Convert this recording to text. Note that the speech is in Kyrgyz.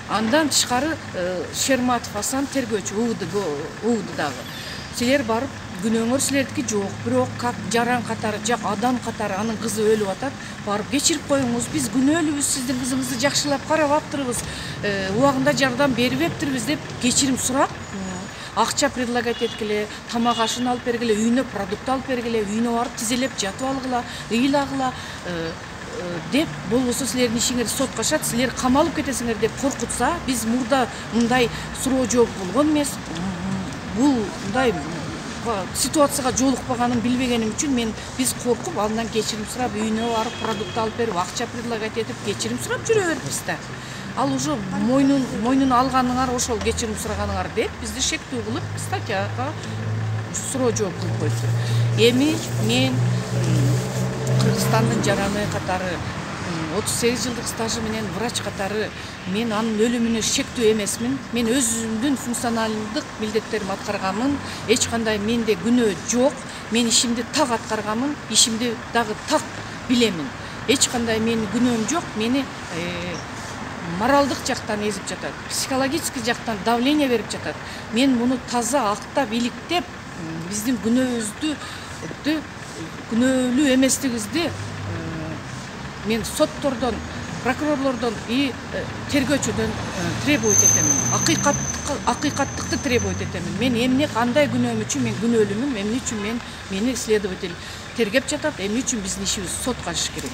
Андан тышкары Шерматов Асан тергөөчү УУД дагы. Силер барып күнөөңөр силердики жок, бирок как жаран катары, жак адам катары анын кызы өлүп атат. Барып кечирип коюңуз. Биз күнөөлүүбүз, сиздин кызыңызды жакшылап карап аптырбыз. Убагында жардам берип эптирбиз деп кечирим сурап, акча предлагать эткиле, тамак ашын алып бергиле, үйүнө продукт алып бергиле, үйүнө барып тизелеп жатып алгыла, ыйлагыла деп, болбосо силердин ишиңер сотко ашат, силер камалып кетесиңер деп коркутса, биз мурда мындай суроо жооп болгон эмес. Бул мындай ситуацияга жолукпаганын билбегеним үчүн биз коркуп, андан кечирим сурап, үйүнө барып продукт алып берип, акча предлагать этип, кечирим сурап жүрө бердибиз да. Ал уже мойнун алганыңар ошол кечирим сураганыңар деп бизди шектүү кылып статьяга суроо жооп кылып койду. Эми мен Кыргызстандын жараны катары 38 жылдык стажы менен врач катары мен анын өлүмүнө шектүү эмесмин. Мен өзүмдүн функционалдык милдеттеримди аткарганмын. Эч кандай менде күнөө жок. Мен ишимди так аткарганмын, ишимди дагы так билемин. Эч кандай менин күнөөм жок. Мени моралдык жактан эзип жатат, психологический жактан давление берип жатат. Мен муну таза актап, иликтеп, биздин күнөөбүздү, күнөөлүү эместигибизди мен соттордон, прокурорлордон и тергөөчүдөн требовать этемин. Акыйкаттыкты требовать этемин. Мен эмне кандай күнөөм үчүн мен күнөөлүүмүн, эмне үчүн мени следователь тергеп жатат, эмне үчүн биздин ишибиз сотко ашыш керек.